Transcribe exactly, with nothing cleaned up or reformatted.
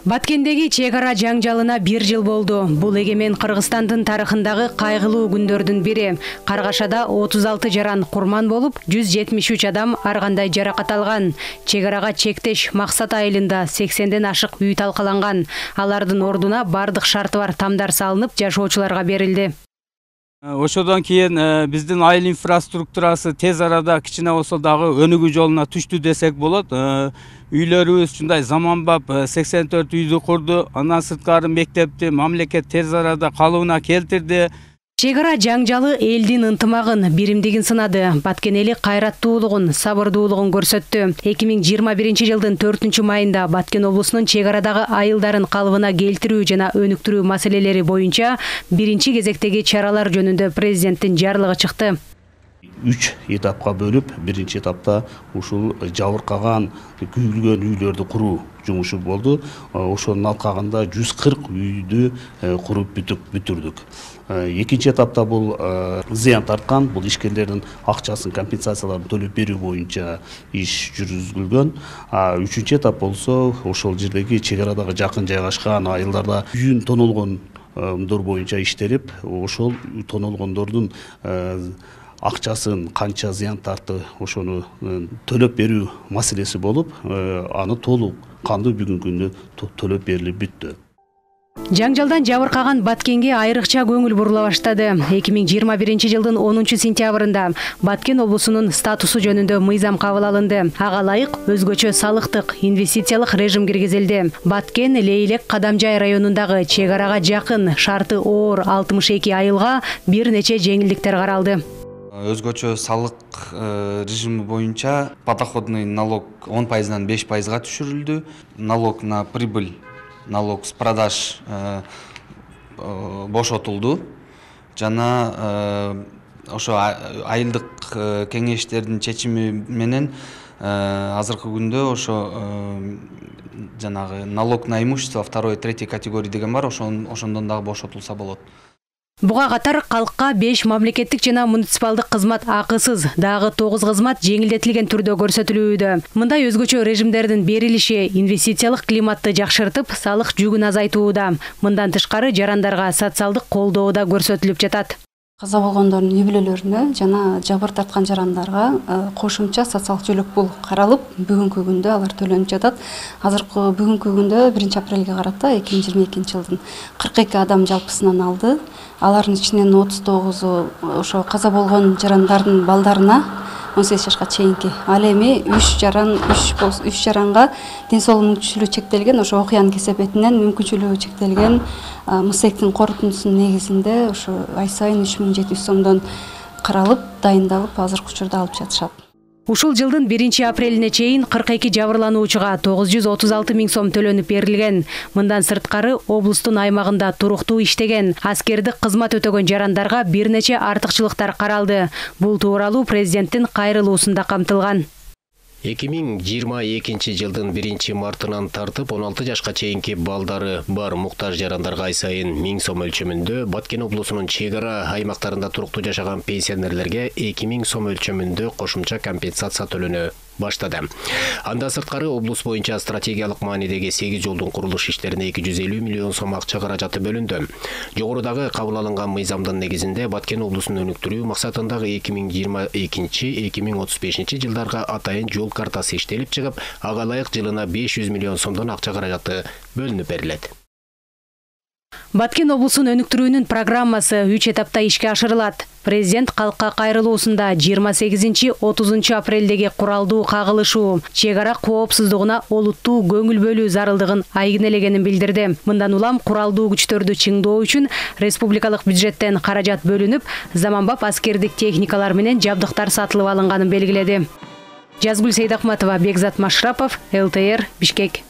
Баткендеги чек ара жаңжалына бир жыл болду. Бул эгемен Кыргызстандын тарыхындагы кайгылуу күндөрдүн бири. Каргашада отуз алты жаран курман болуп, жүз жетимиш үч адам ар кандай жаракат алган. Чек арага чектеш максат айылында сексенден ашык үй талкаланган. Алардын ордуна бардык шарты бар тамдар салынып, жашоочуларга берилди. Ошодон кийин биздин айыл инфраструктурасы тез арада кичине болсо дагы өнүгүү жолуна түштү десек болот. Үйлөрүбүз ушундай заманбап сексен төрт үйдү курду. Андан сырткары мектепти мамлекет тез арада калыбына келтирди. Чек ара жаңжалы элдин ынтымагын, биримдигин сынады. Баткен эли кайраттуулугун, сабырдуулугун көрсөттү. эки миң жыйырма биринчи жылдын төртүнчү майында Баткен облусунун чек арадагы айылдарын калыбына келтирүү жана өнүктүрүү маселелери боюнча биринчи кезектеги чаралар жөнүндө президенттин жарлыгы чыкты. Үч этапка бөлүп, биринчи этапта ушул жабыркаган, күйүлгөн үйлөрдү куруу жумушу болду. Ошонун алкагында жүз кырк үйдү куруп бүтүрдүк. Экинчи этапта бул зыян тарткан, бул ишкерлердин акчасын, компенсацияларын төлөп берүү боюнча иш жүргүзүлгөн. Үчүнчү этап болсо ошол жердеги чек арадагы жакын жайгашкан айылдарда үйүн тонолгондор боюнча иштелип, ошол тонолгондордун акчасын канча зыян тартты ошону төлөп берүү маселеси болуп, аны толук кандуу бүгүнкү күндө төлөп берилип бүттү. Жаңжалдан жабыркаган Баткенге айрыкча көңүл бурула баштады. эки миң жыйырма биринчи жылдын онунчу сентябрында Баткен облусунун статусу жөнүндө мыйзам кабыл алынды. Ага ылайык өзгөчө салыктык, инвестициялык режим киргизилди. Баткен Лейлек Кадамжай районундагы чек арага жакын, шарты оор алтымыш эки айылга бир нече жеңилдиктер каралды. Өзгөчө салык режими боюнча подоходный налог он пайыздан беш пайызга түшүрүлдү. Налог на прибыль, налог с продаж бошотулду. Жана ошо айылдык кеңештердин чечими менен азыркы күндө ошо жанагы налог на имущество второй, третий категория деген бар, ошондон дагы бошотулса болот. Буга катар калкка беш мамлекеттик жана муниципалдык кызмат акысыз, дагы тогуз кызмат жеңилдетилген түрдө көрсөтүлүүдө. Мындай өзгөчө режимдердин берилиши инвестициялык климатты жакшыртып, салык жүгүн азайтууда. Мындан тышкары жарандарга социалдык колдоо да көрсөтүлүп жатат. Каза болгондордун үй бүлөлөрүнө жана жабыр тарткан жарандарга кошумча социалдык жөлөк пул каралып, бүгүнкү күндө алар төлөнүп жатат. Азыркы бүгүнкү күндө биринчи апрелге карата эки миң жыйырма экинчи жылдын кырк эки адам жалпысынан алды. Алардын ичинен отуз тогузу ошо каза болгон жарандардын балдарына он сегиз жашка чейинки. Ал эми үч жаран, үч жаранга ден соолугу мүмкүнчүлүгү чектелген, ошо окуянын кесепетинен мүмкүнчүлүгү чектелген МСЭКтин корутундусунун негизинде ошо ай сайын үч миң жети жүз сомдон каралып, дайындалып, азыркы учурда алып жатышат. Ушул жылдын биринчи апрелине чейин кырк эки жабырлануучуга тогуз жүз отуз алты миң сом төлөнүп берилген. Мындан сырткары облустун аймагында туруктуу иштеген, аскердик кызмат өтөгөн жарандарга бир нече артыкчылыктар каралды. Бул тууралуу президенттин кайрылуусунда камтылган. эки миң жыйырма экинчи жылдын биринчи мартынан тартып он алты жашка чейинки балдары бар муктаж жарандарга ай сайын миң сом өлчөмүндө, Баткен облусунун чек ара аймактарында туруктуу жашаган пенсионерлерге эки миң сом өлчөмүндө кошумча компенсация төлөнө баштады. Анда сырткары облус боюнча стратегиялык маанидеги сегиз жолдун курулуш иштерине эки жүз элүү миллион сом акча каражаты бөлүндү. Жогорудагы кабыл алынган мыйзамдын негизинде Баткен облусун өнүктүрүү максатындагы эки миң жыйырма экинчи — эки миң отуз бешинчи жылдарга атайын жол картасы иштелип чыгып, ага ылайык жылына беш жүз миллион сомдон акча каражаты бөлүнүп берилет. Баткен облусун өнүктүрүүнүн программасы үч этапта ишке ашырылат. Президент калкка кайрылуусунда жыйырма сегизинчи — отузунчу апрелдеги куралдуу кагылышуу чек ара коопсуздугуна олуттуу көңүл бөлүү зарылдыгын айгинелегенин билдирди. Мындан улам куралдуу күчтөрдү чыңдоо үчүн республикалык бюджеттен каражат бөлүнүп, заманбап аскердик техникалар менен жабдыктар сатылып алынганын белгиледи. Жазгүл Сейдахматова, Бекзат Машрапов, эл тэ эр, Бишкек.